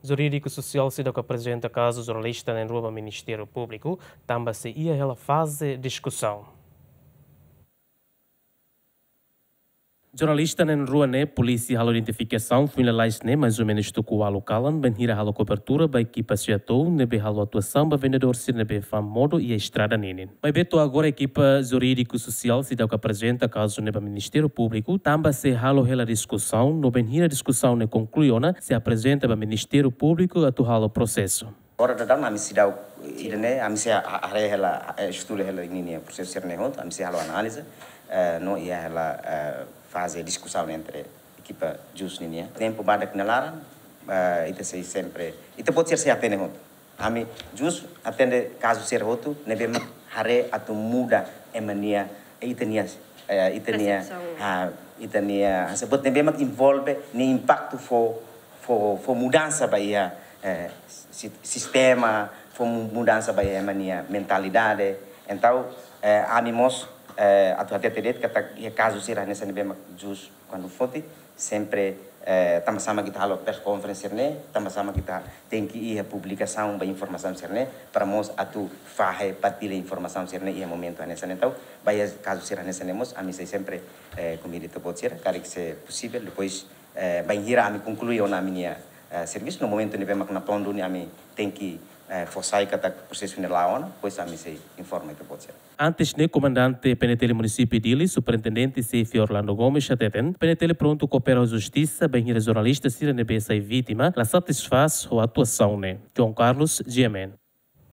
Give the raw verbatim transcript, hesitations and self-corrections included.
Jurídiku sosiál seidauk aprezenta kazu jornalista na'in-rua ba Ministériu Públiku, tanba sei iha hela faze diskusaun. Jornalista na'in-rua ne'e polísia halo identifikasaun foin lalais ne'e, mais ou menus tuku ualu kalan, bainhira halo kobertura ba ekipa SEATOU ne'ebé halo atuasaun ba vendedór sira ne'ebé fa'an modo iha estrada ninin. Maibé to'o agora ekipa jurídiku sosiál seidauk aprezenta kazu ne'e ba Ministériu Públiku, tanba sei halo hela diskusaun, no bainhira diskusaun ne'e konklui ona, sei aprezenta ba Ministériu Públiku atu halo prosesu. Agora daudaun ami seidauk, ida-ne'e, ami sei ha-, haree hela, eh, estuda hela ninia prosesu sira-ne'e hotu, ami sei halo analiza, eh, no iha hela, eh, faze diskusaun entre ekipa jús ninian. Tempu badak nia laran, eh, ita sei sempre, ita-boot sira sei atende hotu. Ami jús atende kazu sira hotu ne'ebé mak haree atu muda ema nia, eh, ita-nia, eh, ita-nia, persepsaun. Ha, ita-nia, hanesan buat ne'ebé mak envolve nia impaktu fó, fó, fó mudansa ba iha, eh, si-, sistema, fó mu-, mudansa ba iha ema nia mentalidade. Entaun, eh, ami mós, eh, atu hatete de'it katak iha kazu sira hanesan ne'ebé mak jús kuandu foti, sempre, eh, tanba sá mak ita halo press conference sira-ne'e, tanba sá mak ita tenke iha publikasaun ba informasaun sira-ne'e, para mós atu fahe, partilla informasaun sira-ne'e iha momentu hanesan ne'e. Entaun, ba iha kazu sira hanesan ne'e mós, ami sei sempre, eh, konvida ita-boot sira, karik se posivel, depois, eh, bainhira ami konklui ona ami-nia, eh, servisu, no momentu ne'ebé mak natón duni ami tenke, eh, fó sai katak prosesu ne'e la'o ona, depois ami sei informa ita-boot sira. Antes ne'e, komandante PNTL Munisípiu Dili, Superintendente Xefe Orlando Gomes, hateten, PNTL prontu koopera ho justisa, bainhira jornalista sira ne'ebé sai vítima, la satisfás ho atuasaun ne'e. João Carlos, G M N.